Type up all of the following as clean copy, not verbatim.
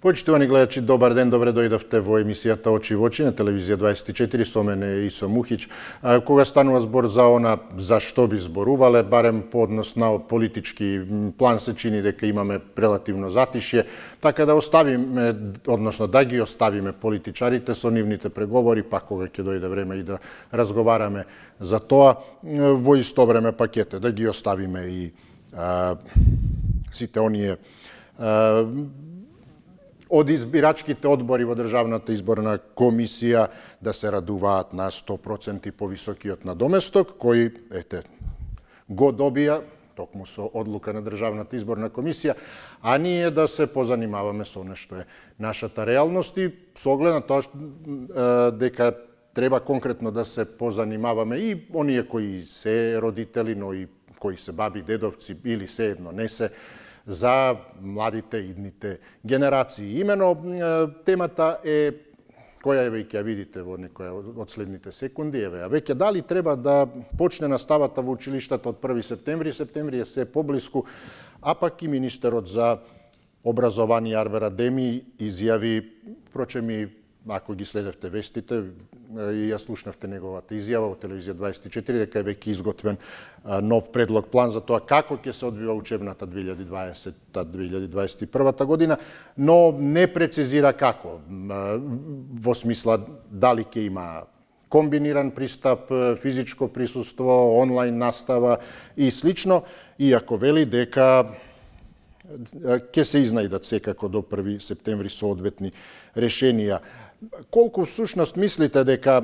Почитувани гледачи, добар ден, добре дојдовте во емисијата Очи во очи на телевизија 24 со мене Исо Мухич. Кога станува збор за она за што би зборувале, барем по однос на политички план се чини дека имаме релативно затишје, така да оставиме, односно да ги оставиме политичарите со нивните преговори, па кога ќе дојде време и да разговараме за тоа, во исто време пакете да ги оставиме и сите оние од избирачките одбори во Државната изборна комисија да се радуваат на 100% повисокиот надоместок, кој, го добија токму со одлука на Државната изборна комисија, а ние да се позанимаваме со нешто е нашата реалност и со оглед на тоа дека треба конкретно да се позанимаваме и оние кои се родители, но и кои се баби, дедовци или се едно не се, за младите идните генерации. Имено темата е, која еве ќе ја видите во некоја од следните секунди, еве, веќе дали треба да почне наставата во училиштата од 1 септември, септември е се поблиску, а пак и министерот за образование Арвер Адеми изјави, впрочем и ако ги следевте вестите, и ја слушнавте неговата изјава во телевизија 24, дека е веќе изготвен нов предлог план за тоа како ќе се одвива учебната 2020-2021 година, но не прецизира како, во смисла дали ќе има комбиниран пристап, физичко присуство, онлайн настава и слично, иако вели дека ќе се изнајдат секако до 1 септември соодветни решенија. Колку всушност мислите дека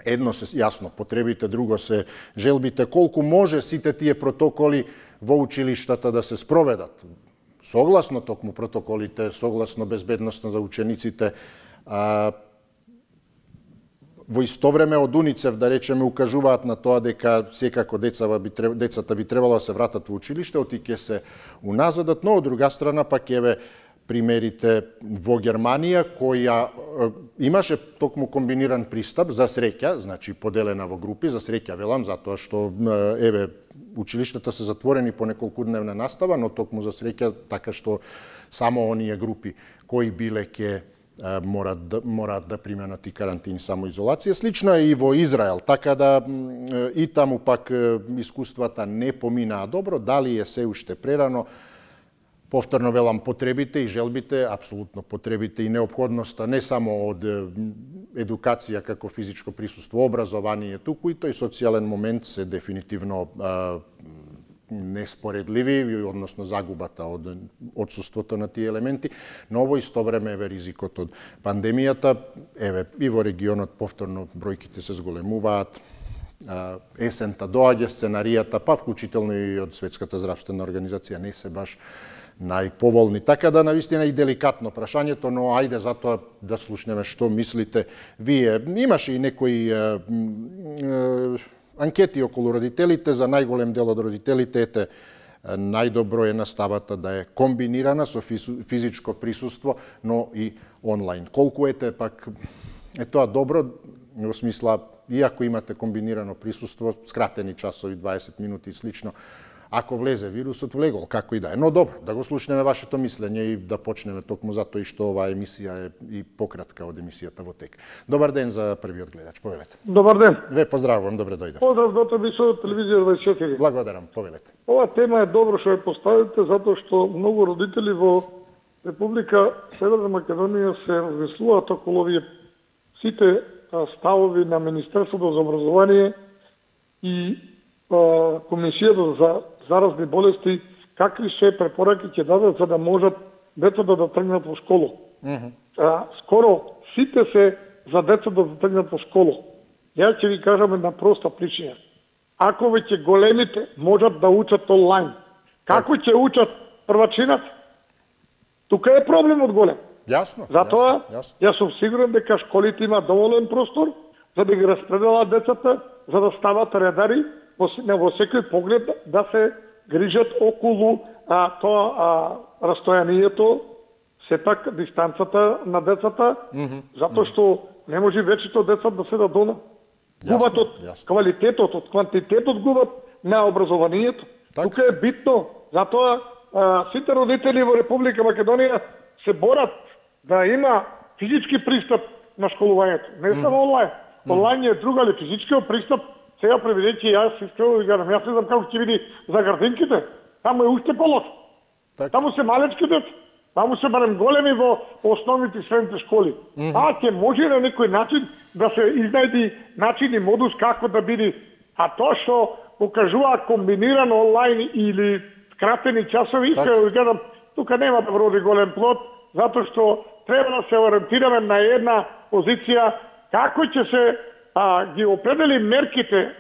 едно се јасно потребите, друго се желбите, колку може сите тие протоколи во училиштата да се спроведат? Согласно токму протоколите, согласно безбедноста за учениците, во исто време од УНИЦЕФ, да речеме, укажуваат на тоа дека секако децата би требало да се вратат во училиште, оти ќе се уназадат, но од друга страна пак еве примерите во Германија, која имаше токму комбиниран пристап за среќа, значи поделена во групи, за среќа велам, затоа што еве училиштата се затворени по неколкудневна настава, но токму за среќа така што само оние групи кои биле ќе мораат да применат и карантини, самоизолација. Слично е и во Израел, така да и таму пак искуствата не поминаа добро, дали е се уште прерано. Повторно велам, потребите и желбите, апсолутно потребите и неопходноста не само од едукација како физичко присуство, образование, туку и тој социјален момент се дефинитивно неспоредливи, односно загубата од отсуството на тие елементи, но во исто време еве ризикот од пандемијата, еве и во регионот повторно бројките се зголемуваат, есента доаѓа, сценаријата, па вклучително и од Светската здравствена организација не се баш најповолни. Така да навистина и деликатно прашањето, но ајде затоа да слушнеме што мислите вие. Имаше и некои анкети околу родителите, за најголем дел од родителите најдобро е наставата да е комбинирана со физичко присуство, но и онлайн. Колку пак е тоа добро, во смисла, иако имате комбинирано присуство, скратени часови, 20 минути и слично, ако влезе вирусот, влегол, како и да е. Но добро, да го слушнеме вашето мислење и да почнеме токму затоа и што оваа емисија е и пократка од емисијата во тек. Добар ден за првиот гледач, повелете. Добар ден. Ве поздравувам, добре дојдете. Поздрав доктор Бисо, телевизија 24. Благодарам, повелете. Ова тема е добро што ја поставите, затоа што многу родители во Република Северна Македонија се размислуваат околу овие сите ставови на Министерството за образование и Комисијата за заразни болести, какви се препораки ќе дадат за да можат децата да тргнат во школа. Скоро сите се за децата да тргнат во школа. Ја ќе ви кажам една проста причина. Ако веќе големите можат да учат онлайн, како ќе учат првачината? Тука е проблемот голем. Јасно. Затоа, јас сум сигурен дека школите има доволен простор за да ги распределат децата, за да стават редари, во секој поглед да се грижат околу тоа растојанието, сепак дистанцата на децата, затоа што не може вечето деца да седат дома. Губат од квалитетот, од квантитетот губат на образованието. Тука е битно, затоа сите родители во Република Македонија се борат да има физички пристап на школувањето. Не само онлайн. Онлайн е друга, али физичкиот пристап, сега преведејќи јас искрено ви кажам, јас не знам како ќе биде за градинките, таму е уште полошо. Таму се малечки деца. Таму се барем големи во основните и средните школи. Ќе може на некој начин да се изнајди начин и модус како да биде. А тоа што покажува комбинирано онлайн или кратени часови, искрено ви кажам, тука нема да вроди голем плод, затоа што треба да се ориентираме на една позиција како ќе се ги определи мерките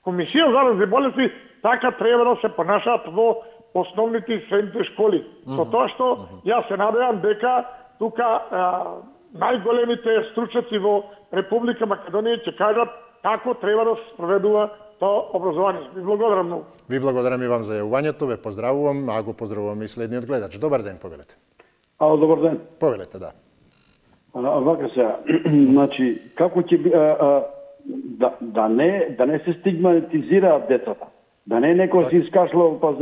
Комисија за заразни болести, така треба да се понашаат во основните и средните школи. Со тоа што јас се надевам дека тука најголемите стручњаци во Република Македонија ќе кажат како треба да се спроведува тоа образование. Ви благодарам многу. Ви благодарам и вам за јавувањето, ве поздравувам, а го поздравувам и следниот гледач. Добар ден, повелете. Ало, добар ден. Повелете, да. Вака сега, значи, како ќе да не се стигматизираат децата, да не некој се искашло па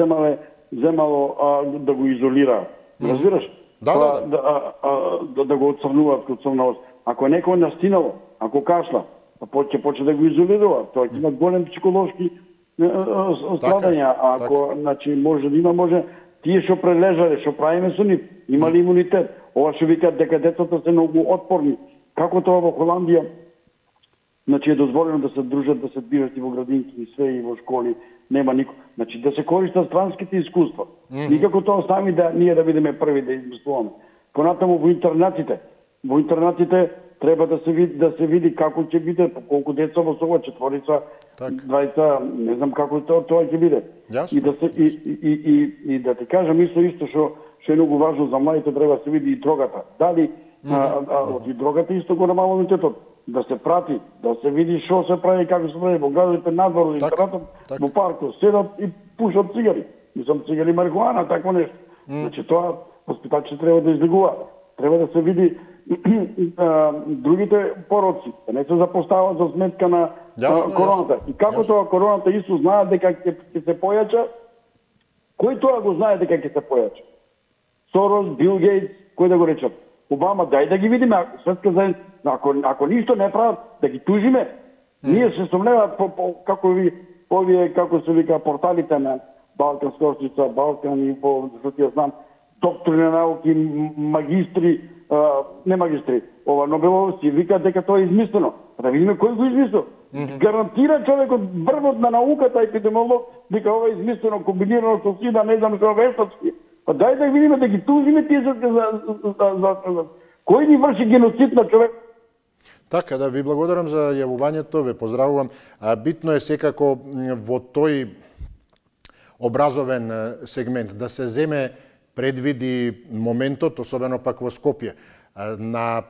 земало да го изолира. Разбираш? Да го отцрнуваат кod црнавост. Ако некој настинало, ако кашла, ќе почне да го изолирува. Тоа ќе има голем психолошки страдања. Ако, значи, може да има, може тие што прележале, што правиме со нив, имали имунитет. Ова што викаат дека децата се многу отпорни. Како тоа во Холандија, значи е дозволено да се дружат, да се движат и во градинки, и све, и во школи, нема никој. Значи да се користат странските искуства. Никако тоа сами да ние да бидеме први да измислуваме. Понатаму во интернатите. Во интернатите треба да се види како ќе биде, колку деца во сова четворица, двајца, не знам како тоа ќе биде. И да се и да ти кажам исто што е многу важно за младите, треба да се види и дрогата. Дали од и дрогата исто го намалуването, да се прати, да се види што се прави, како се прави во градовите, надвор, интернатот, во паркот, седат и пушат цигари. Мислам цигари марихуана, такво нешто. Значи тоа воспитачите треба да избегуваат. Треба да се види другите пороци, да не се запостават за сметка на короната. И како тоа короната исто знае дека ќе се појача, кој тоа го знае дека ќе се појача? Сорос, Бил Гейтс, кој да го речат? Обама, дај да ги видиме, светска заедница, ако ништо не прават, да ги тужиме. Ние се сомневаат како се вика порталите на Балканска орчица, Балкан и што ти ја знам, доктори на науки, магистри, не магистри, Нобеловци, викаат дека тоа е измислено. Да видиме кој го измислил. Гарантира човекот врвот на науката, епидемиолог, дека ова е измислено, комбинирано со сина, не знам што вештачки. Па дај да видиме да ги тужиме тие за кој ни врши геноцид на човек. Така, да ви благодарам за јавувањето, ве поздравувам. Битно е секако во тој образовен сегмент да се земе предвиди моментот, особено пак во Скопје, на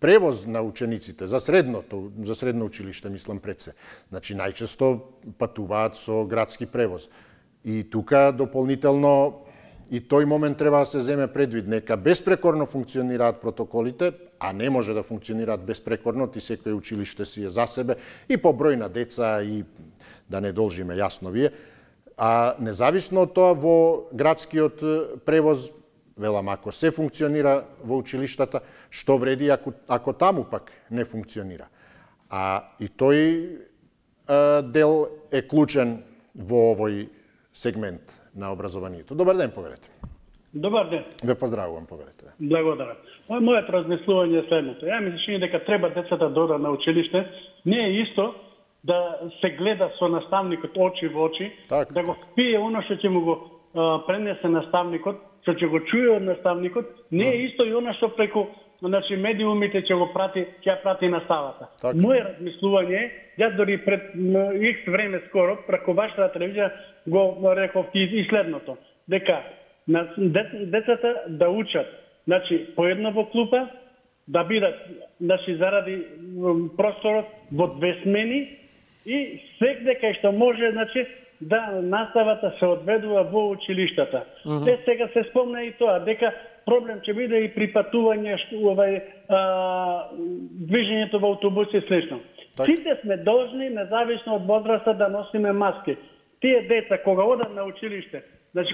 превоз на учениците за средно училиште, мислам пред се. Значи најчесто патуваат со градски превоз. И тука дополнително и тој момент треба да се земе предвид. Нека безпрекорно функционираат протоколите, а не може да функционираат безпрекорно, ти секој училиште си е за себе и по број на деца и да не должиме јасно вие. А независно од тоа во градскиот превоз, велам, ако се функционира во училиштата, што вреди ако таму пак не функционира. А и тој дел е клучен во овој сегмент на образованието. Добар ден, повелете. Добар ден. Ве поздравувам, повелете. Благодарам. Моето размислување е следното. Ја ми се чини дека треба децата да одат на училиште. Не е исто да се гледа со наставникот очи во очи, да го впие оно што ќе му го пренесе наставникот, што ќе го чуе од наставникот, не е исто и оно што преку медиумите ќе прати наставата. Моје размислување е, јас дори пред X време скоро, преку вашата телевизија го реков и следното, дека децата да учат, по една во клупа, да бидат, заради просторот во 2 смени и секде кај што може, да наставата се одведува во училиштата. Сега се спомна и тоа, дека проблем ќе биде и при патување, движењето во автобуси и слично. Сите сме должни, независно од возраста, да носиме маски. Тие деца, кога одат на училиште,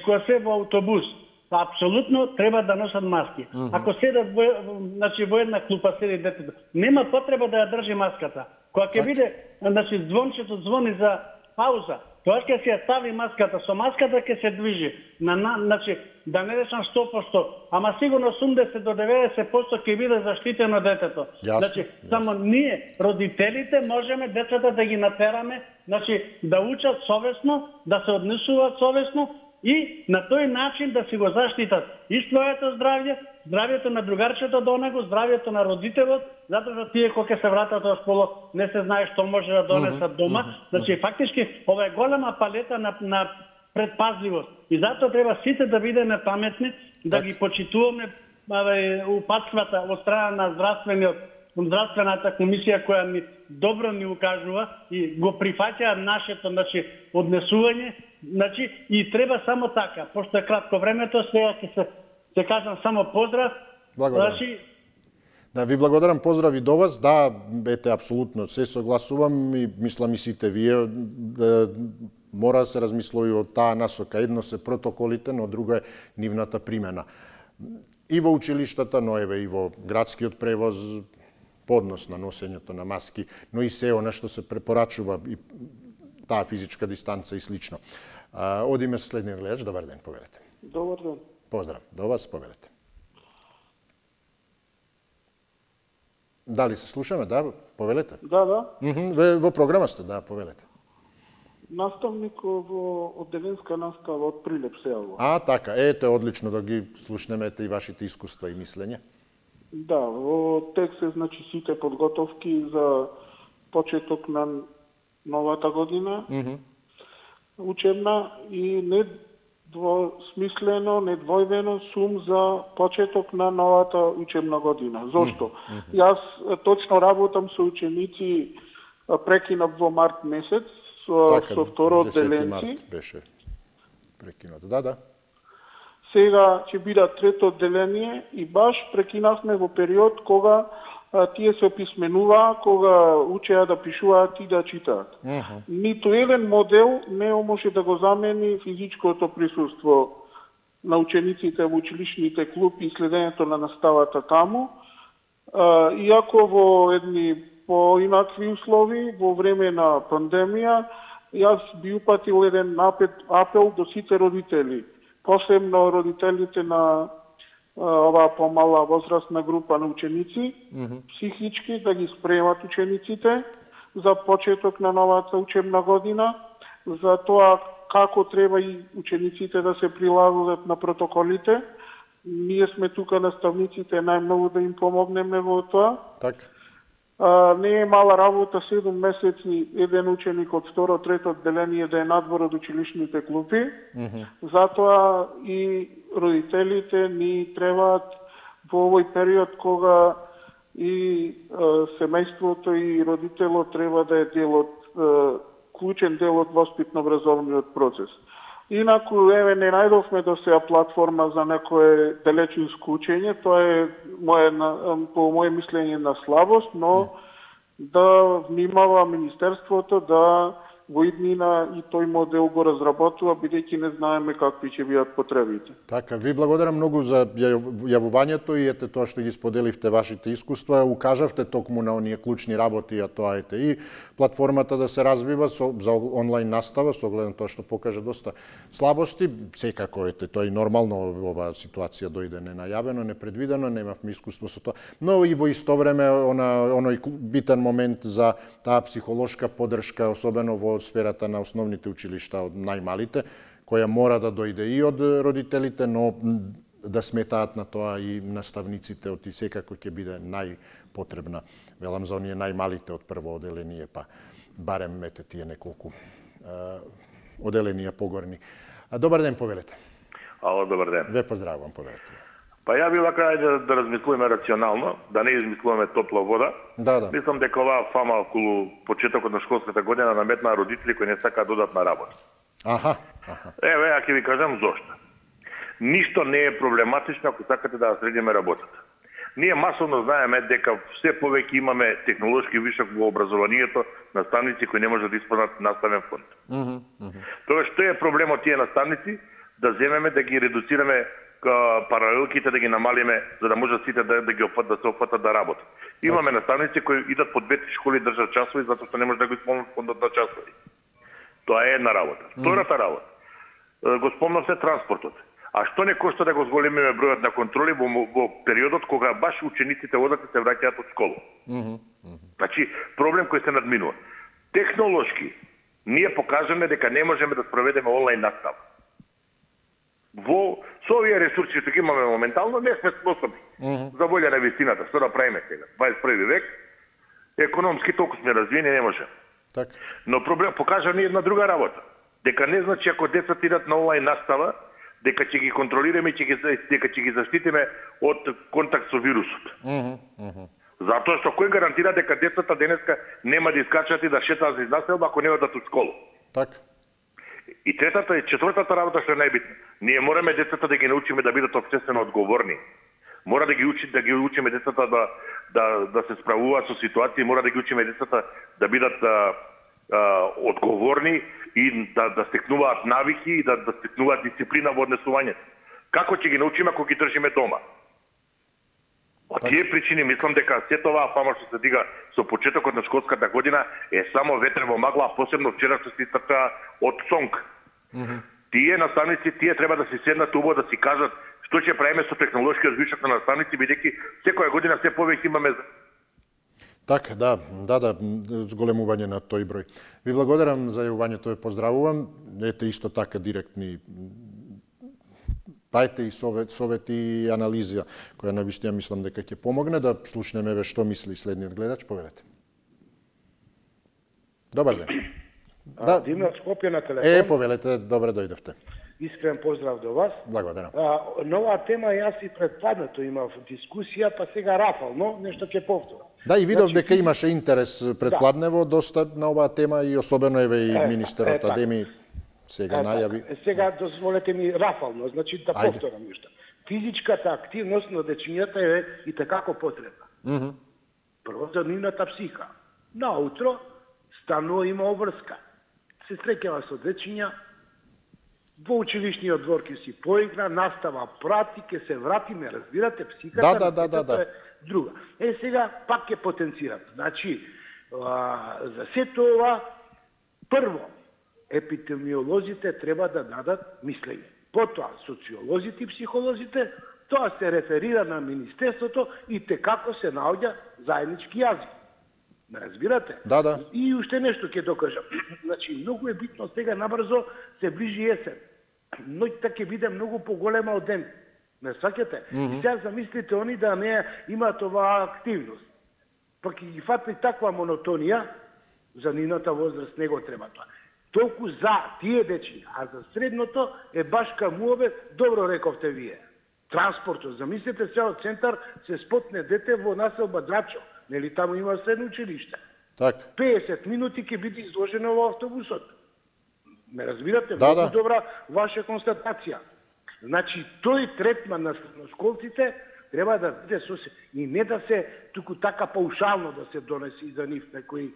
кога се во автобус, апсолутно треба да носат маски. Ако седат во една клупа седи детето, нема потреба да ја држи маската. Кога ќе биде, звончето звони за пауза, тоа ќе се стави маската, со маската ќе се движи. Да не речам 100%, ама сигурно 80 до 90% ќе биде заштитено детето. Само ние, родителите, можеме децата да ги натераме, да учат совесно, да се однесуваат совесно и на тој начин да си го заштитат и своето здравје, здравјето на другарчето до него, здравјето на родителот, затоа што тие кога ќе се вратат од школа не се знае што може да донесат дома. Фактички ова е голема палета на предпазливост. И затоа треба сите да бидеме паметни, да ги почитуваме упатствата од страна на здравствената комисија која ни добро ни укажува и го прифаќа нашето однесување. И треба само така, пошто е кратко времето, сега ќе се кажам само поздрав. Благодарам. Да, ви благодарам, поздрави до вас. Да, ете, апсолутно се согласувам и мислам и сите вие мора да се размислува од таа насока. Едно се протоколите, но друго е нивната примена. И во училиштата, но еве и во градскиот превоз, поднос на носењето на маски, но и се она што се препорачува, и таа физичка дистанца и слично. Одиме со следниот гледач. Добар ден, повелете. Добар ден. Поздрав, до вас, повелете. Дали се слушаме? Да, повелете. Да. Во програма сте, да, повелете. Наставник во одделенска настава од Прилеп се јавува. Така, ете, одлично да ги слушнеме и вашите искуства и мислење. Да, во текст е сите подготовки за почеток на новата година, учебна и недвосмислено, недвојбено сум за почеток на новата учебна година. Зошто? Јас точно работам со ученици, прекинав во март месец, со второ одделенци. 10 март беше прекинат. Да. Сега ќе биде трето одделение и баш прекинавме во период кога тие се описменуваа, кога учеа да пишуваат и да читаат. Ниту еден модел не може да го замени физичкото присуство на учениците во училишните клуби и следењето на наставата таму. Иако во едни поинакви услови, во време на пандемија, јас би упатил еден апел до сите родители, посебно родителите на оваа помала возрастна група на ученици, психички да ги спремат учениците за почеток на новата учебна година, за тоа како треба и учениците да се прилагодат на протоколите. Ние сме тука наставниците најмногу да им помогнеме во тоа. Така. Не е мала работа 7 месеци еден ученик од второ, трето одделение да е надвор од училишните клупи. Затоа и родителите ни требаат во овој период кога и семејството и родителот треба да е дел од клучен дел од воспитно-образовниот процес. Инаку, еве, не најдовме до сега платформа за некое далечинско учење, тоа е по моје мислење на слабост, но да внимава Министерството да во иднина и тој модел го разработува, бидејќи не знаеме какви ќе бидат потребите. Така, ви благодарам многу за јавувањето и ете тоа што ги споделивте вашите искуства, укажавте токму на оние клучни работи, а тоа ете и платформата да се развива за онлайн настава, со оглед на тоа што покажа доста слабости, секако ете тоа и нормално оваа ситуација дојде ненајавено, непредвидено, немавме искуство со тоа, но и во исто време оној битен момент за таа психолошка поддршка, особено во сферата на основните училишта од најмалите, која мора да дојде и од родителите, но да сметаат на тоа и наставниците, и секако ќе биде најпотребна. Велам за оние најмалите од прво оделение, па барем ете тие неколку оделенија погорни. Добар ден, повелете. Ало, добар ден. Ве поздравувам, повелете. Па ја би вака да размислуваме рационално, да не измислуваме топла вода. Да. Мислам дека оваа фама околу почетокот на школската година наметнаа родители кои не сакаат да одат на работа. Еве, ја ќе ви кажам зошто. Ништо не е проблематично ако сакате да средиме работата. Ние масовно знаеме дека все повеќе имаме технолошки вишок во образованието, наставници кои не можат да исполнат наставен фонд. Тоа што е проблемот тие наставници? Да земеме да ги редуцираме паралелките да ги намалиме, за да можат сите да се опфатат да работат. Имаме наставници кои идат по 2-3 школи држат часови затоа што не може да го исполнат фондот на часови. Тоа е една работа. Втората работа. Го спомнавте транспортот. А што не кошта да го зголемиме бројот на контроли во периодот кога баш учениците одат и се враќаат од школа? Значи, проблем кој се надминува. Технолошки, ние покажаме дека не можеме да спроведеме онлайн настава. Со овие ресурси што ги имаме моментално, не сме способни. За волја на вистината, што да правиме сега? 21 век, економски толку сме развиени, не можеме. Но проблем покажа ни една друга работа. Дека не значи ако децата идат на онлайн настава, дека ќе ги контролираме, дека ќе ги заштитиме од контакт со вирусот. Затоа што кој гарантира дека децата денеска нема да искачат и да шетаат из населба ако не одат од школа? И третата и четвртата работа што е најбитна. Ние мораме децата да ги научиме да бидат општествено одговорни. Мора да ги учиме децата да се справуваат со ситуации, мора да ги учиме децата да бидат одговорни и да стекнуваат навики и да стекнуваат дисциплина во однесувањето. Како ќе ги научиме ако ги држиме дома? Од тие причини мислам дека сето оваа фама што се дига со почетокот на школската година е само ветер во магла, посебно вчера што се истрча од сонг. Тие наставници, тие треба да се седнат убаво да си кажат што ќе правиме со технолошкиот вишок на наставници, бидејќи секоја година се повеќе имаме. Така, да, зголемување на тој број. Ви благодарам за јавувањето, ве поздравувам. Ете исто така директни дајте и совети и анализа, која навистина мислам дека ќе помогне да слушнеме ве што мисли следниот гледач. Повелете. Добар ден. Димна Скопје на телефон. Повелете, добре дојдовте. Искрен поздрав до вас. Благодарам. На оваа тема јас и предпладнато имав дискусија, па сега рафално нешто ќе повторам. Да, и видов дека имаше интерес предпладнево доста на оваа тема и особено еве и министерот Адеми сега најави. Сега дозволете ми рафално, значи да повторам нешто. Физичката активност на дечињата е и такако потребна. Прво за нивната психа. Наутро станува има обврска. Се среќава со дечиња, во училишниот двор ќе си поигра, настава прати, ќе се врати, ме разбирате, психиката е друга. Сега пак ќе потенцирам. Значи, за сето ова, прво, епидемиолозите треба да дадат мислење. Потоа, социолозите и психолозите, тоа се реферира на Министерството и како се наоѓа заеднички јазик. Ме разбирате? Да. И уште нешто ќе докажам. Значи, многу е битно сега набрзо се ближи есен. Ноќта ќе биде многу поголема од ден. Не сакате? И сега замислите они да не имаат оваа активност. Па ќе ги фатни таква монотонија, за нивната возраст не го треба тоа. Толку за тие дечиња, а за средното е баш камуове, добро рековте вие. Транспортот, замислете се од центар се спотне дете во населба Драчо. Нели таму има средно училиште? 50 минути ќе биде изложено во автобусот. Ме разбирате? Многу добра ваша констатација. Значи, тој третман на средношколците треба да биде и не да се туку така паушално да се донеси за нив некои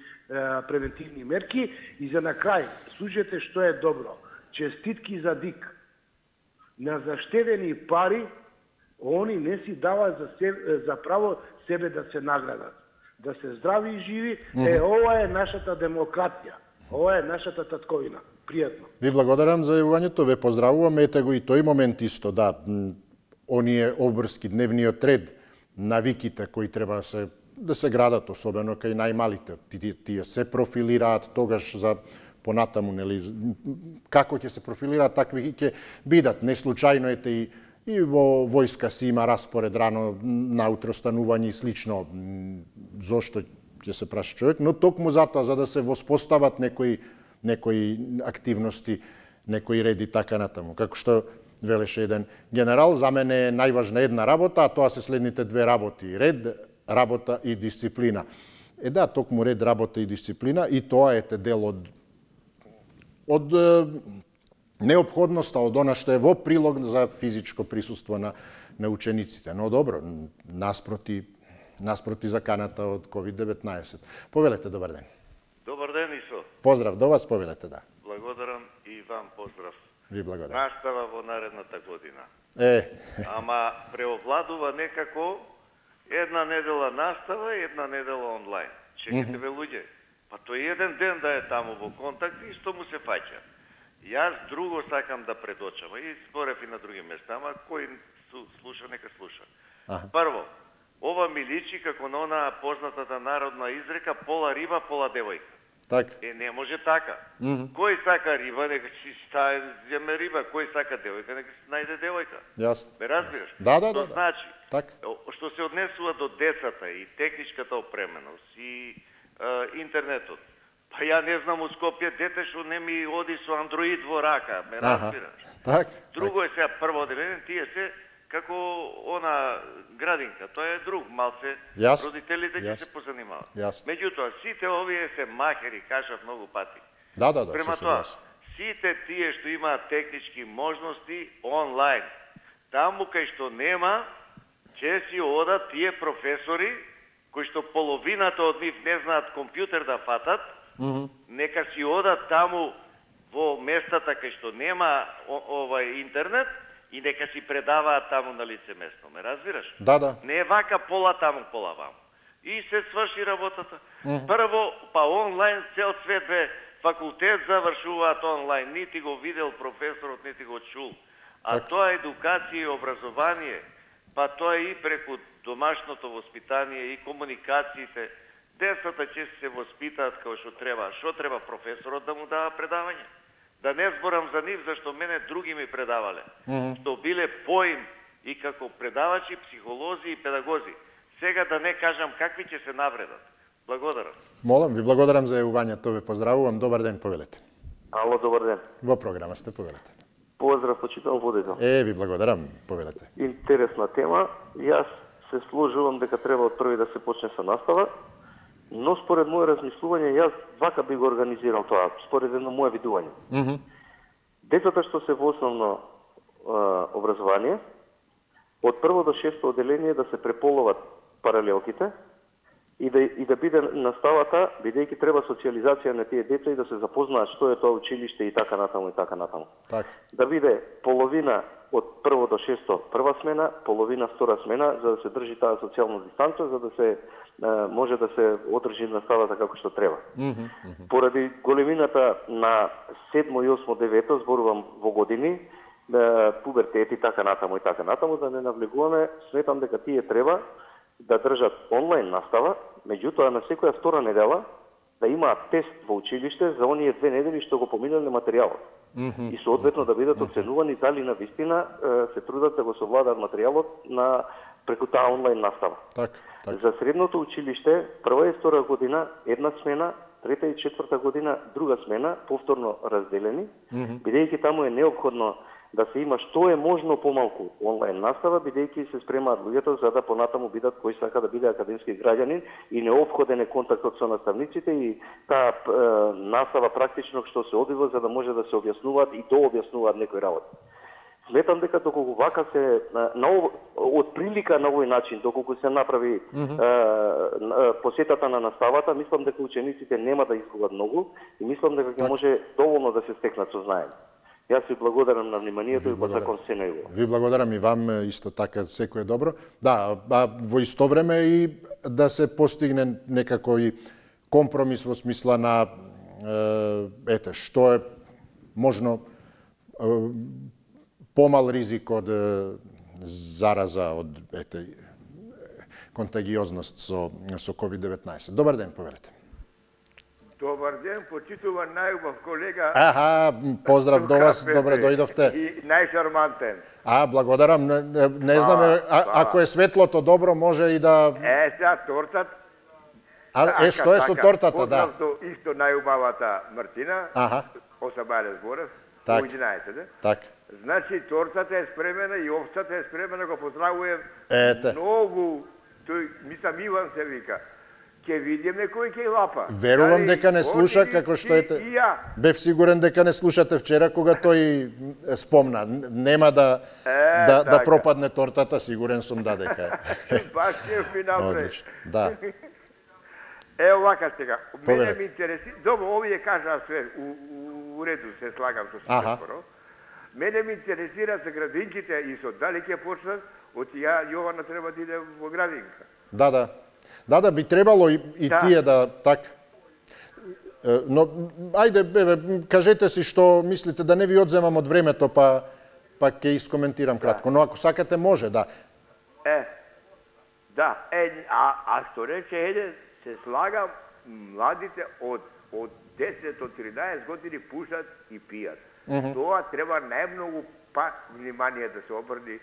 превентивни мерки. И за на крај, слушате што е добро. Честитки за ДИК. На заштедени пари, они не си даваат за право себе да се наградат. Да се здрави и живи, ова е нашата демократија. Ова е нашата татковина. Пријатно. Ви благодарам за јавувањето, ве поздравувам. Ете го и тој момент исто, да, оние обврски, дневниот ред, навиките кои треба да се градат, особено кај најмалите. Тие се профилираат тогаш за понатаму, нели, како ќе се профилираат, такви ќе бидат. Не случајно ете и во војска си има распоред рано наутро станување и слично. Зошто ќе се праша човек, но токму затоа за да се воспостават некои активности, некои реди така натаму. Како што велеше еден генерал, за мене е најважна една работа, а тоа се следните две работи: ред, работа и дисциплина. Да, токму ред, работа и дисциплина, и тоа е дел од неопходноста, од она што е во прилог за физичко присуство на учениците. Но добро, наспроти заканата од COVID-19. Повелете, добар ден. Добар ден, Исо. Поздрав до вас, повелете, да. Благодарам и вам поздрав. Ви благодарам. Настава во наредната година. Ама преовладува некако една недела настава и една недела онлайн. Чекате ве луѓе. Па тој еден ден да е таму во контакт и што му се фаќа. Јас друго сакам да предочам и зборев и на други места, ама кој слуша, нека слуша. Прво, ова ми личи како на она познатата народна изрека пола риба, пола девојка. Не може така. Кој сака риба, нека си земе риба, кој сака девојка, нека си најде девојка. Јасно. Ме разбираш? Да. Што значи? Што се однесува до децата и техничката опременост и интернетот. Па ја не знам у Скопје дете што не ми оди со андроид во рака, ме разбираш? Друго е сега прво одделение, тие се како она градинка, тоа е друг, малце родителите ќе се позанимават. Меѓутоа, сите овие се махери, кажав многу пати. Према тоа, сите тие што имаат технички можности онлайн, таму кај што нема, ќе си одат тие професори, кои што половината од нив не знаат компјутер да фатат, нека си одат таму во местата кај што нема интернет, и нека си предаваат таму на лице место, ме разбираш? Не е вака пола таму, пола ваму. И се сврши работата. Прво, па онлайн цел свет бе, факултет завршуваат онлайн, нити го видел професорот, нити го чул. А тоа е едукација и образование, па тоа е и преку домашното воспитание и комуникациите. Децата ќе се воспитаат како што треба. Што треба професорот да му дава предавање? Да не зборам за нив, зашто мене други ми предавале. Што биле поим и како предавачи, психолози и педагози. Сега да не кажам какви ќе се навредат. Благодарам. Молам, ви благодарам за јавувањето, ве поздравувам. Добар ден, повелете. Ало, добар ден. Во програма сте, повелете. Поздрав, почитан водител. Ви благодарам, повелете. Интересна тема. Јас се сложувам дека треба од први да се почне со настава, но според моје размислување, јас вака би го организирал тоа, според едно моје видување. Децата што се во основно образование, од прво до шесто одделение да се преполуват паралелките и да биде наставата, бидејќи треба социализација на тие деца и да се запознаат што е тоа училиште и така натаму и така натаму. Да биде половина од прво до шесто прва смена, половина втора смена, за да се држи таа социјална дистанца, за да се може да се одржи наставата како што треба. Поради големината на 7, 8, 9, зборувам во години, пубертет и така натаму, да не навлегуваме, сметам дека тие треба да држат онлайн настава, меѓутоа на секоја втора недела да имаат тест во училиште за оние 2 недели што го поминале материјалот. И соодветно да бидат оценувани дали на вистина се трудат да го совладаат материјалот преку таа онлайн настава. За средното училиште, прва и втора година една смена, трета и четврта година друга смена, повторно разделени, бидејќи таму е неопходно да се има што е можно помалку онлайн настава, бидејќи се спремаат луѓето за да понатаму бидат кој сака да биде академски граѓанин и неопходен е контактот со наставниците и таа настава практично што се одвива за да може да се објаснуваат и дообјаснуваат некои работи. Сметам дека доколку вака се од прилика на овој начин, доколку се направи посетата на наставата, мислам дека учениците нема да изгубат многу и мислам дека ќе може доволно да се стекнат со знаење. Јас ви благодарам на вниманието и посакам се најубаво. Ви благодарам и вам, исто така, секое добро. Да, во исто време и да се постигне некако и компромис во смисла на што е можно помал ризик од зараза, од контагиозност со COVID-19. Добар ден, повелете. Добар ден, почитуван најубав колега. Поздрав до вас, добре дојдовте. И најшармантен. Благодарам. Не знаме, ако е светлото добро, може и да... Сега тортат. Што е со тортата, да? Поздрав до исто најубавата Мартина, Осабале Зборев, у 11. Так. Значи, тортата е спремена и овцата е спремена, го поздравувам многу. Тој, мислам, Иван се вика. Ке видиме кој ќе лапа. Верувам дека не слуша како што ете. Бев сигурен дека не слушате вчера кога тој спомна. Нема да пропадне тортата, сигурен сум дека. Баш ќе ми напред. Да. Ево вака сега. Мене ми интереси. Добро, овие кажа све у реду, се слагам со се скоро. Мене ми интересира за градинките и со дали ќе почнат, од ја Јована треба да иде во градинка. Да, би требало и тие да така. Но ајде, кажете си што мислите, да не ви одземам од времето, па ќе искоментирам кратко, но ако сакате може, да. А што рече еден, се слага, младите од 10 од 13 години пушат и пијат. Тоа треба најмногу внимание да се обрни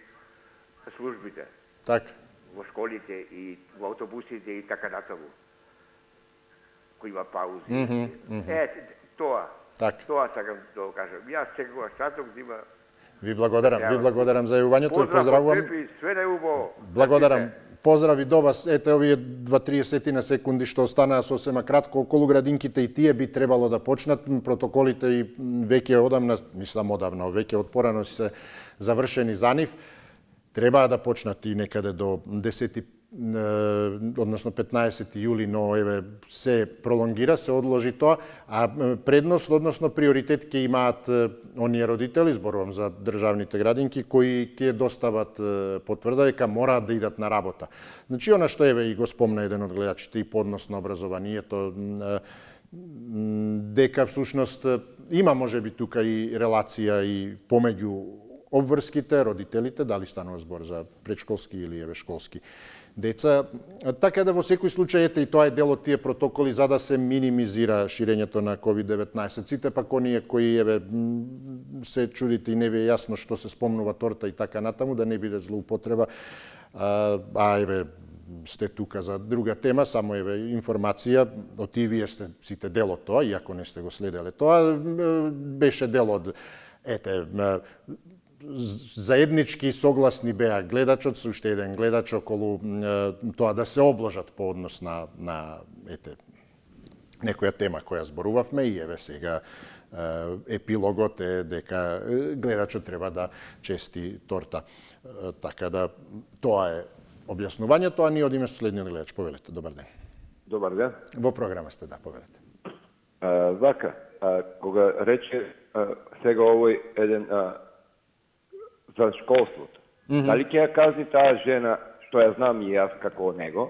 службите. Така. Во школите и во автобусите и така натаму. Кој има паузи. Тоа сакам да кажам. Јас секогаш саток да има. Ви благодарам за јавувањето и поздравувам. Све најубаво. Благодарам. Поздрави до вас. Ете овие 2-30 на секунди што останаа сосема кратко околу градинките, и тие би требало да почнат. Протоколите и веќе одамна, веќе од порано се завршени за нив. Треба да почнат и некаде до 10, односно 15 јули, но еве се пролонгира, се одложи тоа, а предност, односно приоритет ќе имаат оние родители, зборувам за државните градинки, кои ќе достават потврда дека мораат да идат на работа. Значи, она што еве и го спомна еден од гледачите, и по однос на образованието, дека всушност има можеби тука и релација и помеѓу обврските, родителите, дали станува збор за предшколски или еве школски деца, така да во секој случај, ете, и тоа е дел од тие протоколи за да се минимизира ширењето на COVID-19. Сите пак оние кои еве се чудите и не ви е јасно што се спомнува торта и така натаму, да не биде злоупотреба, еве сте тука за друга тема, само еве информација, од и вие сте сите дел од тоа, иако не сте го следеле тоа, беше дел од, заеднички согласни беа гледачот со уште еден гледач околу тоа да се обложат по однос на некоја тема која зборувавме, и еве сега епилогот е дека гледачот треба да чести торта. Така да тоа е објаснувањето, а ние одиме со следниот гледач. Повелете, добар ден. Добар ден. Во програма сте, да, повелете. Вака, кога рече сега овој еден за школството. Дали ќе ја казни таа жена, што ја знам и јас како него,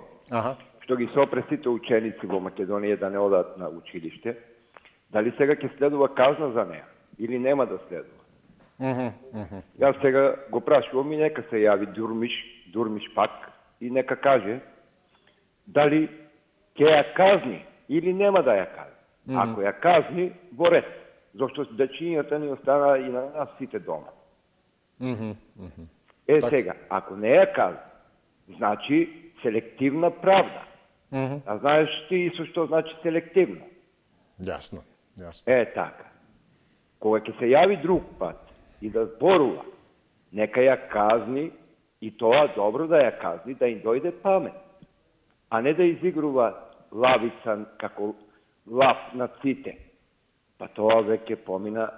што ги сопре сите ученици во Македонија да не одат на училиште, дали сега ќе следува казна за неа или нема да следува? Јас сега го прашувам и нека се јави Дурмиш пак и нека каже дали ќе ја казни или нема да ја казни. Ако ја казни, во ред, зашто дечињата ни останаа и на нас сите дома. Сега, ако не ја казни, значи селективна правда. А знаеш ти со што значи селективно? Јасно. Така. Кога ќе се јави друг пат и да зборува, нека ја казни, и тоа добро да ја казни, да им дојде памет. А не да изигрува лавица како лав на сите. Па тоа веќе помина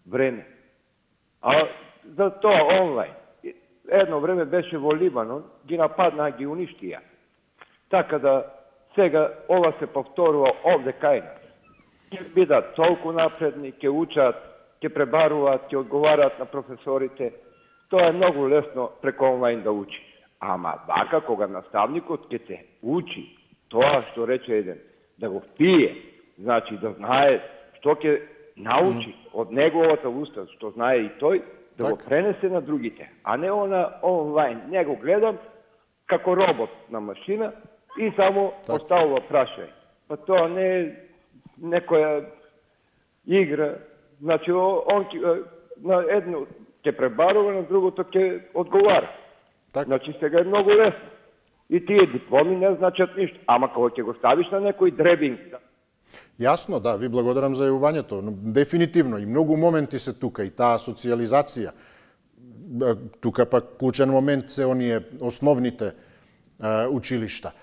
време. А за тоа онлайн. Едно време беше во Либанон, ги нападнаа, ги уништија. Така да сега ова се повторува овде кај нас. Ќе бидат толку напредни, ќе учат, ќе пребаруваат, ќе одговараат на професорите. Тоа е многу лесно преку онлайн да учи. Ама вака кога наставникот ќе те учи тоа што рече еден, да го впие, значи да знае што ќе научи од неговата уста, што знае и тој, да го пренесе на другите, а не она онлайн. Не го гледам како робот на машина и само поставува прашање. Па тоа не е некоја игра. Значи, он на едно ќе пребарува, на другото ќе одговара. Значи, сега е многу лесно. И тие дипломи не значат ништо. Ама кога ќе го ставиш на некој дребинг... Јасно, да, ви благодарам за јавувањето. Дефинитивно, и многу моменти се тука, и таа социјализација. Тука пак клучен момент се оние основните училишта.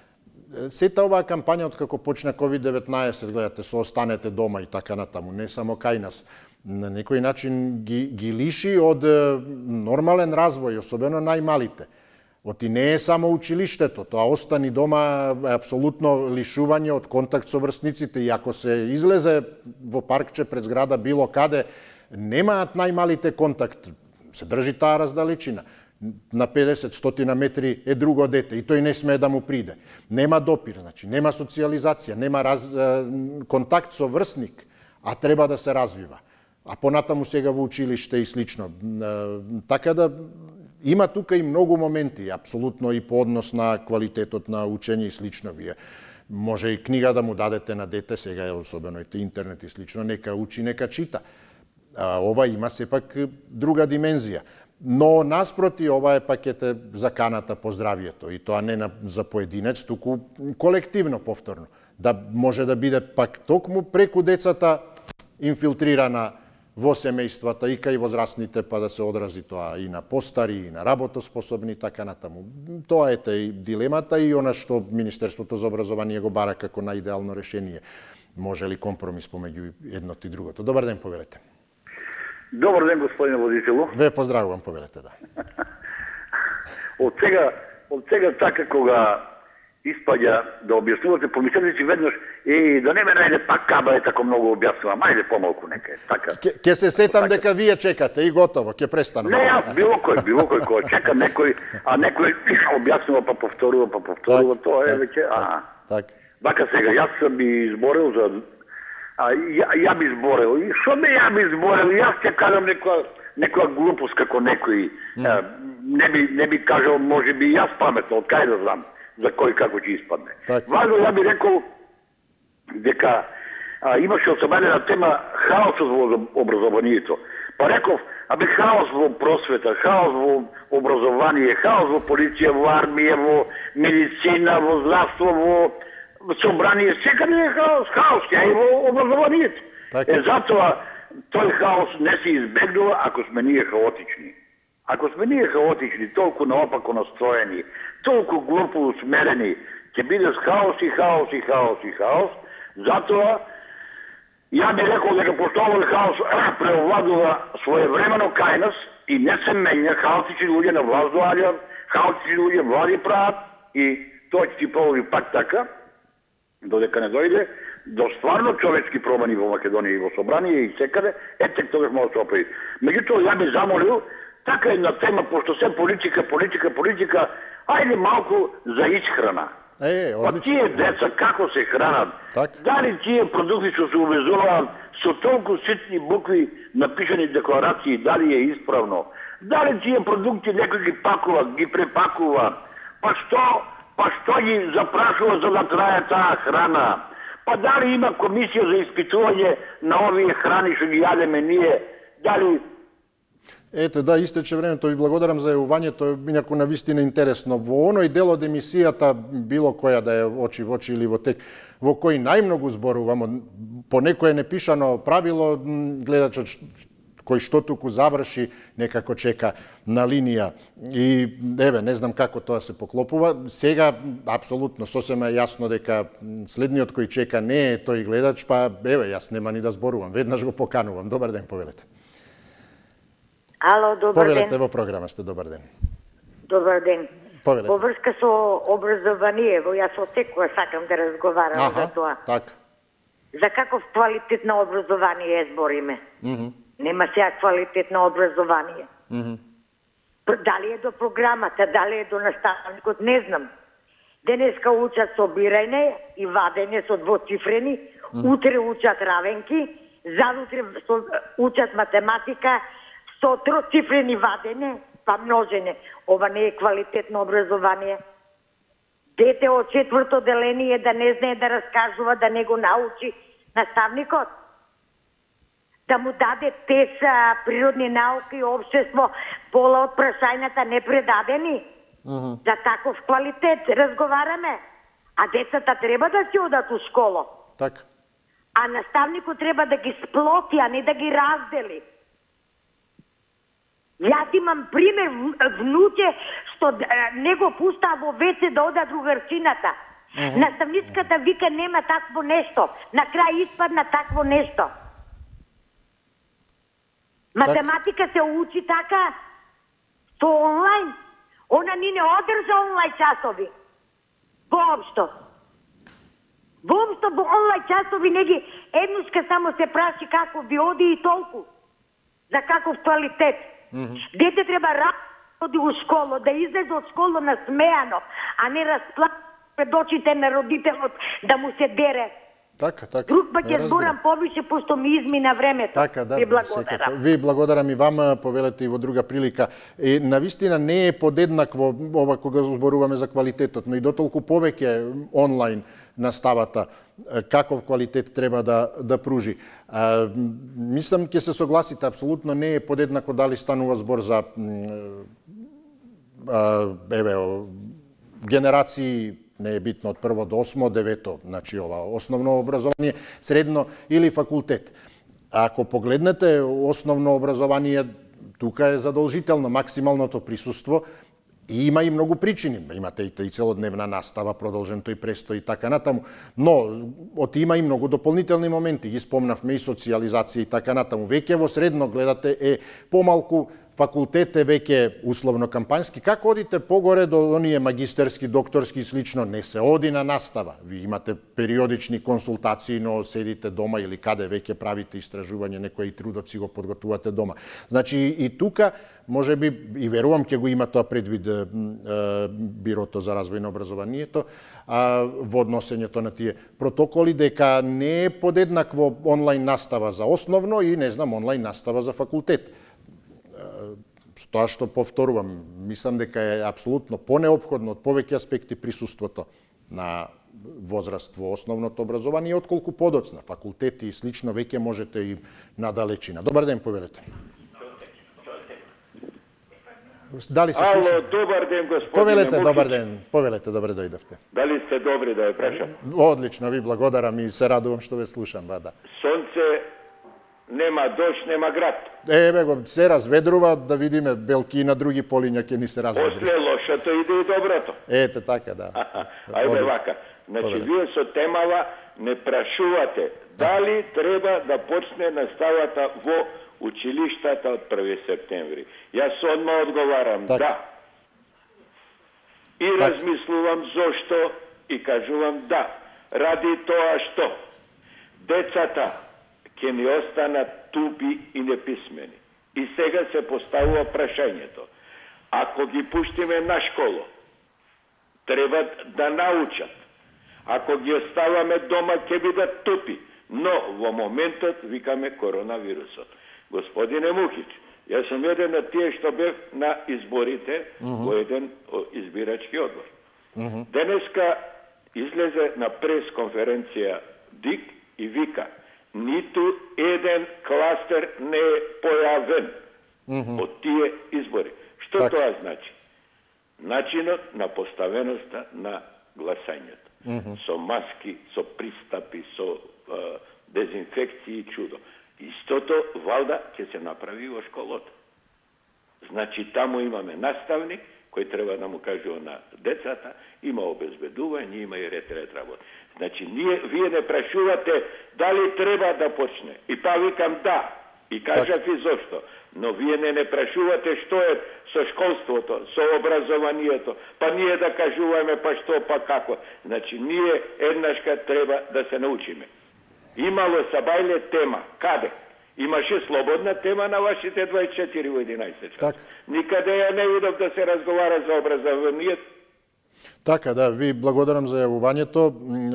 Сета оваа кампања од како почна COVID-19, гледате, со останете дома и така натаму, не само кај нас, на некој начин ги лиши од нормален развој, особено најмалите. Оти не е само училиштето, тоа остани дома е апсолутно лишување од контакт со врсниците, и ако се излезе во паркче пред зграда било каде, немаат најмалите контакт, се држи таа раздалечина. На 50-100 метри е друго дете и тој не смее да му приде. Нема допир, значи, нема социализација, нема контакт со врсник, а треба да се развива. А понатаму сега во училиште и слично. Така да има тука и многу моменти, апсолутно и по однос на квалитетот на учење и слично. Вие може и книга да му дадете на дете, сега е особено и интернет и слично, нека учи, нека чита. Ова има сепак друга димензија. Но наспроти, ова е пакете заканата по здравието и тоа не за поединец, туку колективно повторно. Да може да биде пак токму преку децата инфилтрирана во семејствата и кај возрастните, па да се одрази тоа и на постари, и на работоспособни, така натаму. Тоа е и дилемата и она што Министерството за образование го бара како најидеално решение. Може ли компромис помеѓу едното и другото? Добар ден, повелете. Добар ден, господине водителу. Ве поздравувам, повелете, да. Од сега така кога испаѓа да објаснувате, помислете си веднаш да не ме најде пак каба е тако многу објаснувам, ајде помалку нека е така. Ке се сетам дека вие чекате и готово, ке престанам. Не, јас било кој кој чека некој, а некој објаснува па повторува, тоа е веќе, Вака сега, јас би изборил за ја би изборил. И шо ме ја би изборил? Јас ќе кажам некоја глупост како некој. Не би кажал, може би јас паметно, од кај да знам за кој како ќе испадне. Важно ја би рекол дека имаше особена тема хаосот во образованието. Па реков, хаос во просвета, хаос во образование, хаос во полиција, во армија, во медицина, во здравство, во собрание, секаде е хаос, ја и во образованието. Затоа тој хаос не се избегнува ако сме ние хаотични. Ако сме ние хаотични, толку наопако настроени, толку глупо усмерени, ќе биде хаос и хаос и хаос и хаос. Затоа ја би рекол дека пошто овој хаос преовладува своевремено кај нас и не се менја, хаотични луѓе на власт доаѓаат, хаотични луѓе влади прават и тоа ќе ти проводи пак така, додека не дојде до стварно човечки промени во Македонија и во собрание и секаде, тек тогаш може да се оправи. Меѓутоа, ја би замолил, така една тема, пошто се политика, ајде малку за исхрана. Па тие деца како се хранат? Дали тие продукти што се увезуваат со толку ситни букви напишани декларации, дали е исправно? Дали тие продукти некој ги пакува, ги препакува? Па што ги запрашува за да трае таа храна? Па дали има комисија за испитување на овие храни што ги јадеме ние? Дали... Ете, да, истече времето. Ви благодарам за јавувањето, инаку навистина интересно. Во оној дел од емисијата, било која да е очи во очи или во тек, во кој најмногу зборувам, по некое непишано правило, гледачот кој што туку заврши, некако чека на линија. И, еве, не знам како тоа се поклопува. Сега, апсолутно, сосема јасно дека следниот кој чека не е тој гледач, па, еве, јас нема ни да зборувам. Веднаш го поканувам. Добар ден, повелете. Ало, добар ден. Повелете во програма сте, добар ден. Добар ден. Повелете. Во врска со образованиево, јас од секоја сакам да разговарам за тоа. Така. За каков квалитет на образование збориме? Нема сега квалитет на образование. Дали е до програмата, дали е до наставникот, не знам. Денеска учат собирање и вадење со двоцифрени, утре учат равенки, задутре учат математика со троцифрени вадење, па множење. Ова не е квалитетно образование. Дете од 4-то деление да не знае да раскажува, да не го научи наставникот. Да му даде тест природни науки и општество, пола од прашањата не предадени. За таков квалитет разговараме. А децата треба да си одат у школа. Така. А наставникот треба да ги сплоти, а не да ги раздели. Јас имам пример внуče што не го пуста во веце да ода другарчината. Наставничката вика нема такво нешто. На крај испадна такво нешто. Математика се учи така со онлайн. Она ни не одржа онлайн часови. Воопшто. Воопшто во онлайн часови не ги еднушка само се праши како би оди и толку. За каков квалитет? Дете треба оди у школу, да излезе од школа насмеано, а не расплакано пред очите на родителот да му се дере. Така. Друг пат ќе зборам повише, пошто ми измина времето. Така, да, ви благодарам. Ви благодарам и вама, повелете и во друга прилика. Навистина не е подеднакво ова кога зборуваме за квалитетот, но и дотолку повеќе онлайн наставата, каков квалитет треба да пружи. Мислам, ќе се согласите, апсолутно не е подеднакво дали станува збор за генерации, не е битно од прво до 8, 9, значи ова основно образование, средно или факултет. Ако погледнете основно образование, тука е задолжително максималното присуство и има и многу причини. Имате и целодневна настава, продолжен тој престој и така натаму. Но има и многу дополнителни моменти. Ги спомнавме и социализација и така натаму. Веќе во средно гледате е помалку, факултет е веќе условно кампањски. Како одите погоре до оние магистерски, докторски и слично, не се оди на настава. Ви имате периодични консултации, но седите дома или каде веќе правите истражување, некои трудоци го подготвувате дома. Значи и тука може би, и верувам ќе го има тоа предвид Бирото за развој на образованието, во односењето на тие протоколи, дека не е подеднакво онлайн настава за основно и, не знам, онлайн настава за факултет. Тоа што повторувам, мислам дека е апсолутно понеопходно од повеќе аспекти присуството на возраст во основното образование, отколку подоцна. Факултети и слично веќе можете и надалечина. Добар ден, повелете. Дали се слуша? Ало, добар ден, господине Повелете, Мукич. добар ден. Повелете, добре дојдовте. Дали сте добри да ја прашам? Одлично, ви благодарам и се радувам што ве слушам, да. Сонце, нема дожд, нема град. Еве го, се разведрува, да видиме белки и на други полиња ќе ни се разведри. После лошото иде и доброто. Ете така, да. Ајде вака. Значи, вие со темава не прашувате дали треба да почне наставата во училиштата од 1 септември. Јас одма одговарам да. И размислувам зошто и кажувам да. Ради тоа што децата ќе ни останат тупи и неписмени. И сега се поставува прашањето. Ако ги пуштиме на школу, треба да научат. Ако ги оставаме дома, ќе бидат тупи. Но во моментот викаме коронавирусот. Господине Мухич, јас сум еден од тие што бев на изборите во еден избирачки одбор. Денеска излезе на прес-конференција ДИК и вика: ниту еден кластер не е појавен од тие избори. Што тоа значи? Начинот на поставеноста на гласањето. Со маски, со пристапи, со дезинфекции и чудо. Истото, валда, ќе се направи во школото. Значи, таму имаме наставник, кој треба да му кажува на децата, има обезбедување, има и ред работа. Значи, вие не прашувате дали треба да почне. И па викам да. И кажав и зошто. Но вие не прашувате што е со школството, со образованието. Па ние да кажуваме па што, па како. Значи, ние еднашка треба да се научиме. Имало сабајле тема. Каде? Имаше слободна тема на вашите 24 во 11 час. Никаде ја не видов да се разговара за образованието. Така, да, ви благодарам за јавувањето.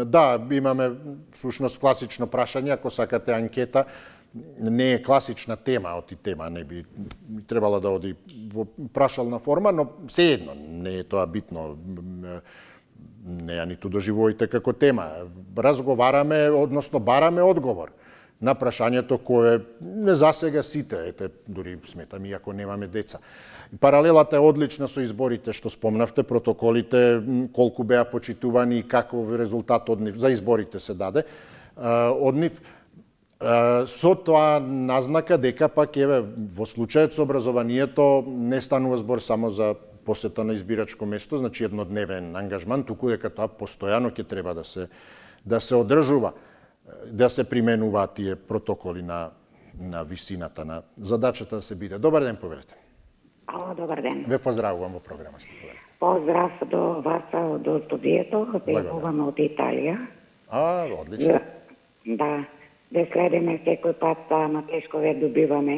Да, имаме всушност класично прашање, ако сакате анкета, не е класична тема, оти тема не би требала да оди во прашална форма, но сеедно не е тоа битно. Не ја ниту доживоите како тема. Разговараме, односно бараме одговор на прашањето кое не засега сите, ете, дури сметам и ако немаме деца. Паралелата е одлична со изборите што спомнавте, протоколите, колку беа почитувани и каков резултат од нив, за изборите се даде од нив. Со тоа назнака дека пак еве во случајот со образованието не станува збор само за посета на избирачко место, значи еднодневен ангажман, туку дека тоа постојано ќе треба да се одржува, да се применуваат тие протоколи на висината на задачата да се биде. Добар ден, повелете. Добар ден. Ве поздравувам во програмата. Поздрав до вас, до студието, јавуваме од Италија. Одлично. Да. да следиме секој пат на тешкове добиваме.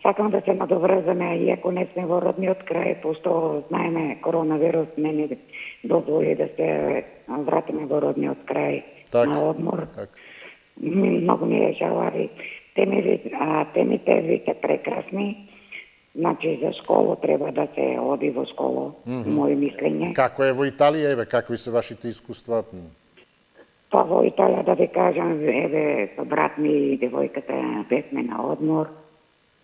Сакам да се надоврзаме, иако не сме во родниот крај, пошто знаеме коронавирус не ни дозволи да се вратиме во родниот крај на одмор. Многу ми е жалави. Темите ви се прекрасни. Значи за школу треба да се оди во школу, моје мислење. Како е во Италија, еве, какви се вашите искуства? Па во Италија да ви кажам, еве, со брат ми и девојката бевме на одмор,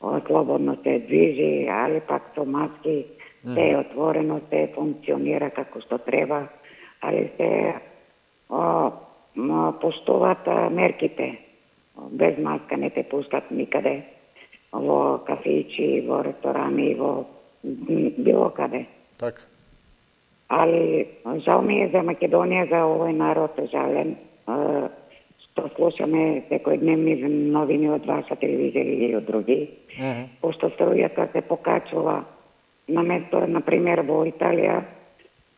слободно се движи, али пак со маски, се е отворено, се функционира како што треба, али се поштуваат мерките. Без маска не те пуштат никаде, во кафејчи, во ресторани, во било каде. Така. Али жал ми е за Македонија, за овој народ, жален, што слушаме секојдневни новини од ваша телевизија или од други, пошто струјата се покачува на место, например, во Италија,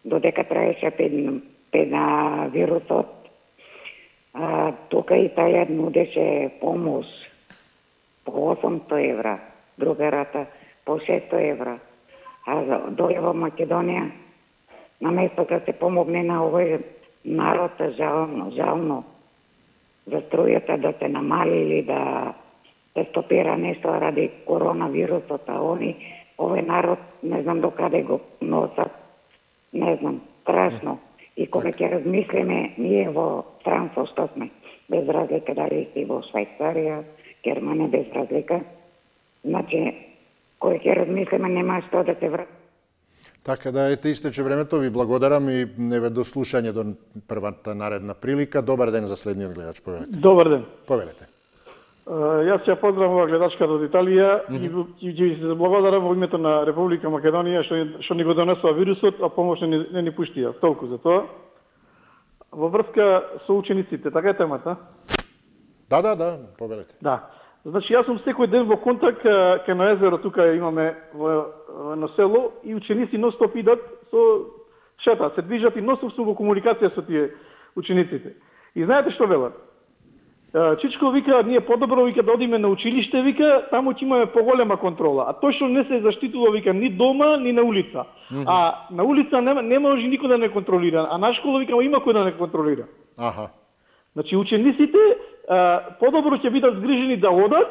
додека траеше вирусот, тука Италија нудеше помош по 800 евра, друга рата по 600 евра, а доле во Македонија, на место да се помогне на овој народ, жално, за струјата да се намали или да се стопира нешто ради коронавирусот, а овој народ, не знам докаде го носат, не знам, страшно. И кога ќе размислиме, ние во странство што сме, без разлика дали си во Швајцарија, Германија, без разлика, значи, кога ќе размислиме, нема што да се врати. Така да, ете, истече времето, ви благодарам и неве до слушање до првата наредна прилика. Добар ден за следниот гледач, повелете. Добар ден. Повелете. Јас ќе поздравам гледачката од Италија и ќе се благодарам во името на Република Македонија што ни го донесува вирусот, а помош не ни пуштија. Толку за тоа. Во врска со учениците, така е темата? Да, повелете. Да. Значи, јас сум секој ден во контакт кај на езеро, тука имаме на село, и ученици ностоп идат со шета, се движат и ностоп сум во комуникација со тие учениците. И знаете што велат? Чичко вика, ние подобро вика да одиме на училиште, вика, таму ќе имаме поголема контрола. А тој што не се заштитува, вика, ни дома, ни на улица. А на улица не може никој да не контролира, а на школа, вика, има кој да не контролира. Значи, учениците подобро ќе бидат згрижени да одат,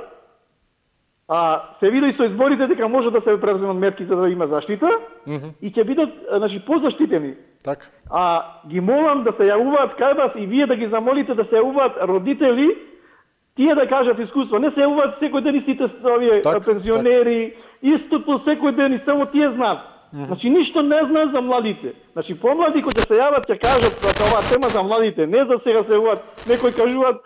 се види со изборите дека може да се преземат мерки за да има заштита, и ќе бидат, значи, позаштитени. Така. Ги молам да се јавуваат кај вас и вие да ги замолите да се јавуваат родители, тие да кажат искуство. Не се јавуваат секој ден и сите овие пензионери, истото секој ден и само тие знаат. Значи, ништо не знаат за младите. Значи, помлади кои се јават ќе кажат дека оваа тема за младите, не за сега се јавуваат, некои кажуваат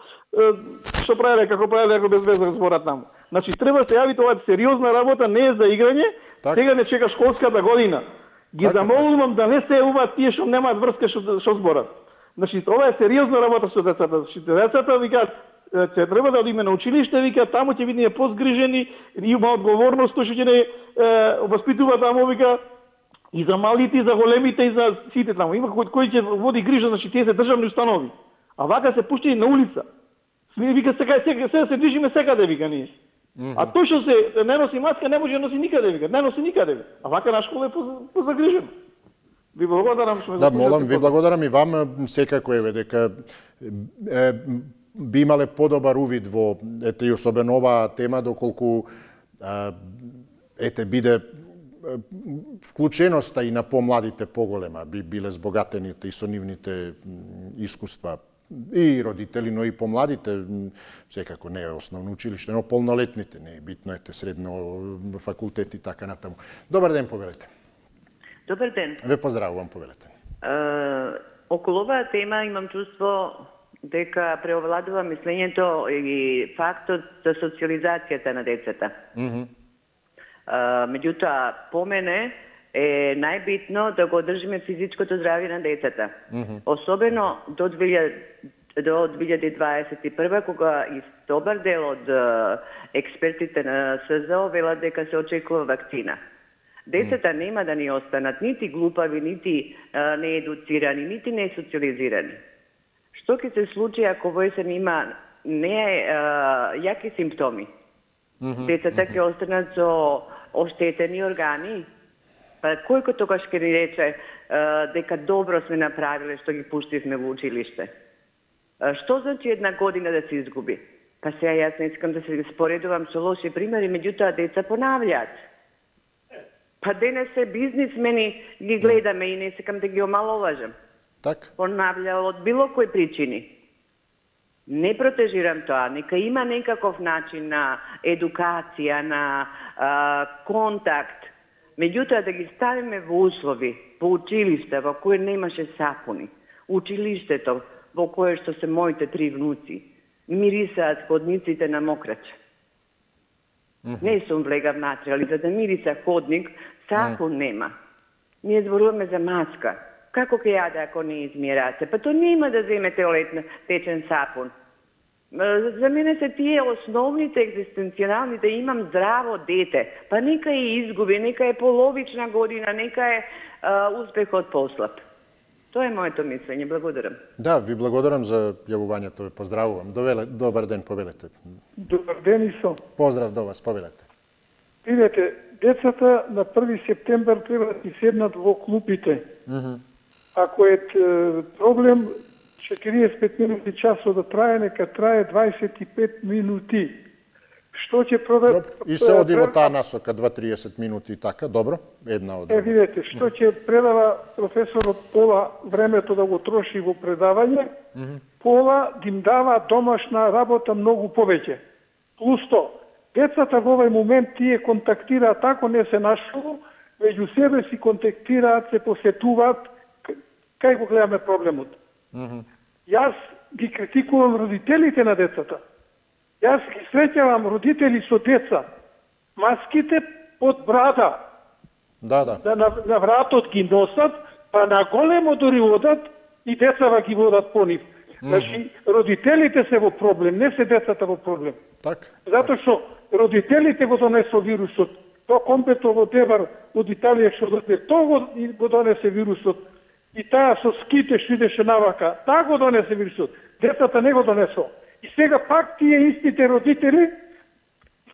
што правеле, како правеле, ако без веза зборат таму. Значи, треба да се јавите, ова е сериозна работа, не е за играње, сега не чека школската година. Ги замолувам да не се јавуваат тие што немаат врска што зборат. Значи, ова е сериозна работа со децата. Децата викаат, ќе треба да одиме на училиште, викаат, таму ќе бидеме позгрижени, има одговорност, што ќе не воспитува таму, вика, и за малите, и за големите, и за сите таму. Има кој ќе води грижа, значи тие се државни установи. А вака се пуштени на улица. Вика, сега се движиме секаде, вика, ние. А тој што се не носи маска, не може да носи никаде, вика, не носи никаде. А вака на школа е позагрижен. Ви благодарам што ме запитате. Да, молам, ви благодарам и вам, секако еве дека би имале подобар увид во ете и особено оваа тема, доколку ете биде вклученоста и на помладите поголема, би биле збогатените и со нивните искуства и родители, но и помладите, секако не е основно училиште, но полнолетните, не е битно, ете средно факултет и така натаму. Добар ден, повелете. Добар ден. Ве поздравувам, повелете. Околу оваа тема имам чувство дека преовладува мислењето и фактот за социализацијата на децата. Меѓутоа, по мене е најбитно да го одржиме физичкото здравје на децата. Особено до 2021, кога и добар дел од експертите на СЗО велат дека се очекува вакцина. Децата нема да ни останат нити глупави, нити неедуцирани, нити несоциализирани. Што ќе се случи ако во есен има јаки симптоми? Децата ќе останат со оштетени органи? Па кој тогаш ќе ни рече дека добро сме направиле што ги пуштивме во училиште? Што значи една година да се изгуби? Па сега јас не искам да се споредувам со лоши примери, меѓутоа деца понављаат. Па денес се бизнисмени ги гледаме и не сакам да ги омаловажам. Понавља од било кои причини. Не протежирам тоа, нека има некаков начин на едукација, на контакт. Меѓутоа да ги ставиме во услови, во училиште во кое немаше сапуни, училиштето во кое што се моите 3 внуци, мирисаат ходниците на мокрача. Не сум влегав натре, али за да мириса ходник, сапун нема. Ние зборуваме за маска. Како ќе јаде ако не измие раце? Па то нема да земете течен сапун. За мене се тие основните екзистенцијални да имам здраво дете. Па нека ја изгуби, нека е половична година, нека е успехот послаб. Тоа е моето мислење. Благодарам. Да, ви благодарам за јавувањето. Поздравувам. Добар ден, повелете. Добар ден и со. Поздрав до вас, повелете. Видете, децата на 1 септембар треба да си седнат во клупите. Ако е проблем 45 минути часот да трае, нека трае 25 минути. Што ќе продаде... И се оди во таа насока 2-30 минути и така, добро? Една од друга. Видете, што ќе предава професорот пола времето да го троши во предавање, пола им дава домашна работа многу повеќе. Плюс то, децата во овој момент тие контактираат, ако не се нашолу, меѓу себе си контактираат, се посетуваат, кај го гледаме проблемот. Јас ги критикувам родителите на децата. Јас ги среќавам родители со деца. Маските под брада. На вратот ги носат, па на големо дори одат и децава ги водат по нив. Значи, родителите се во проблем, не се децата во проблем. Затоа што родителите го донесо вирусот. То компето во Дебар од Италија што дојде, тоа го донесе вирусот. И таа со ските што идеше навака, таа го донесе вирусот. Децата не го донесо. И сега пак тие истите родители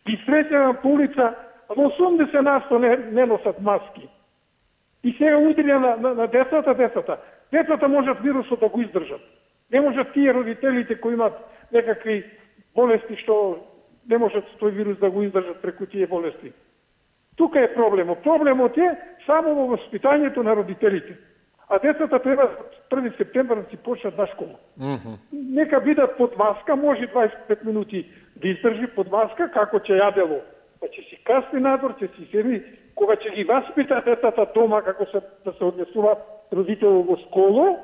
ги среќавам по улица, но 80% не носат маски. И сега удрија на децата. Децата можат вирусот да го издржат. Не можат тие родителите кои имат некакви болести што не можат тој вирус да го издржат преку тие болести. Тука е проблемот. Проблемот е само во воспитањето на родителите. А децата треба 1 септембар да си почнат на школа. Нека бидат под маска, може 25 минути да издржи под маска, како ќе јадело. Па ќе си касни надвор, ќе си седи, кога ќе ги васпита децата дома, како да се однесуваат родитело во школа,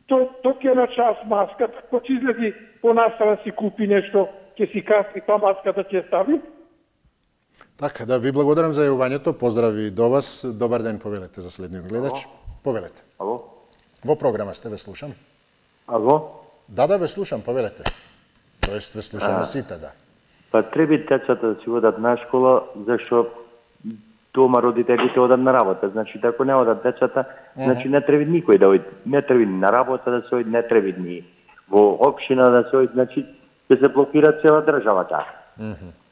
то ќе на час маска, кога ќе излези по настава си купи нешто, ќе си касни, па маската ќе стави. Така, да ви благодарам за јавувањето, поздрави до вас. Добар ден, повелете за следниот гледач. Повелете. Ало? Во програма сте, ве слушам. Ало? Да, ве слушам, повелете. Тоест, ве слушаме сите, да. Па треба децата да си одат на школа, зашто дома родителите одат на работа. Значи, ако не одат децата, значи не треба никој да оди. Не треба ни на работа да се оди, не треба ни во општина да се оди, значи, ќе се блокира цела државата.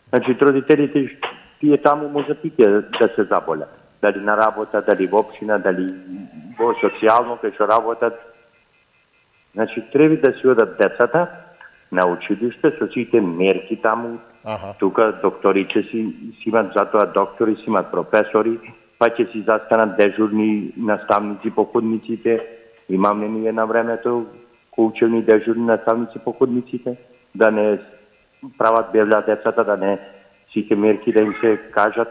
Значи, родителите, тие таму можат и да се заболят. Дали на работа, дали во општина, дали во социјално, кај што работат. Значи, треба да си одат децата на училиште со сите мерки таму. Тука докторите си имат, затоа доктори си имат професори, па ќе си застанат дежурни наставници по ходниците. Имаме ние на времето учени дежурни наставници по ходниците, да не прават бевля децата, да не сите мерки да им се кажат.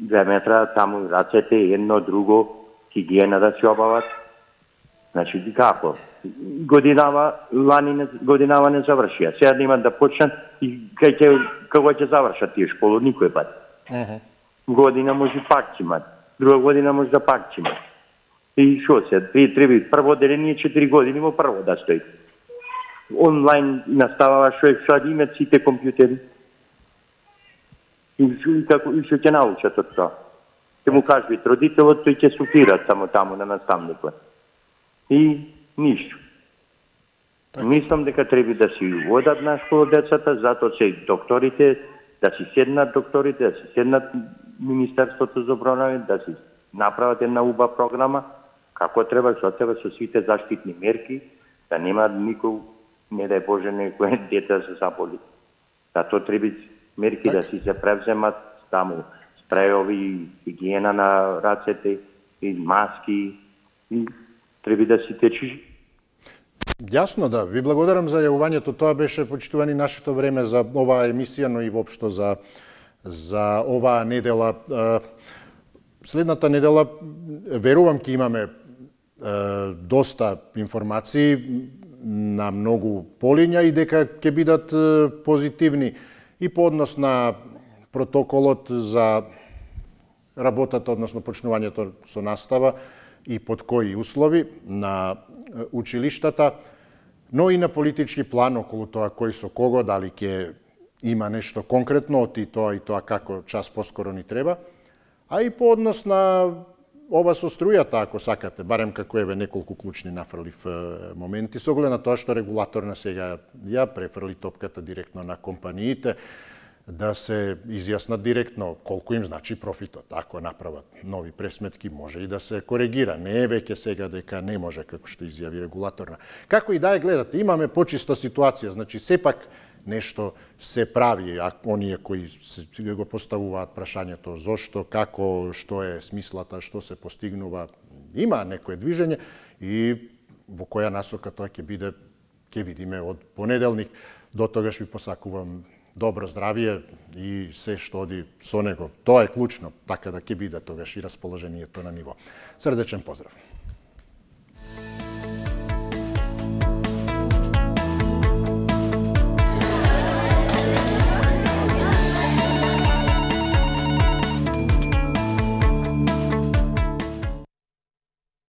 2 метра, таму рацете, едно, друго, хигиена да се обават. Значи, како? Годинава не завршија. Сега да имат да почнат и како ќе завршат тие школу, никој пат. Година може пак ќе имат, друга година може да пак ќе имат. И шо се, треба прво деление 4 години во прво да стои. Онлайн наставава што имат сите компјутери. И што ќе научат од тоа. Ќе му кажат родителот, тој ќе суфира само таму на наставникот. И ништо. Мислам дека треба да си водат на школа децата, затоа че докторите, да си седнат докторите, да си седнат Министерството за одбрана, да си направат една убава програма, како треба, што треба со сите заштитни мерки, да нема никој, не дај Боже, некој дете да се заболи. Затоа треба мерки да си се превземат, таму спрејови, хигиена на рацете, и маски, и треба да си течи. Јасно, да. Ви благодарам за јавувањето. Тоа беше, почитувани, нашето време за оваа емисија, но и воопшто за оваа недела. Следната недела, верувам, ќе имаме доста информации на многу полиња и дека ќе бидат позитивни и по однос на протоколот за работата, односно почнувањето со настава и под кои услови на училиштата, но и на политички план околу тоа кој со кого, дали ќе има нешто конкретно од и тоа како час поскоро ни треба, а и по однос на ова со струјата, ако сакате, барем како еве неколку клучни нафрлив моменти, со оглед на тоа што регулаторна сега ја префрли топката директно на компаниите, да се изјаснат директно колку им значи профитот. Ако направат нови пресметки, може и да се коригира. Не е веќе сега дека не може, како што изјави регулаторна. Како и да ја гледате, имаме почиста ситуација, значи сепак нешто се прави, а оние кои го поставуваат прашањето зошто, како, што е смислата, што се постигнува, има некое движење и во која насока тоа ќе биде, ќе видиме од понеделник. До тогаш ви посакувам добро здравие и се што оди со него. Тоа е клучно, така да ќе биде тогаш и расположението на ниво. Срдечен поздрав!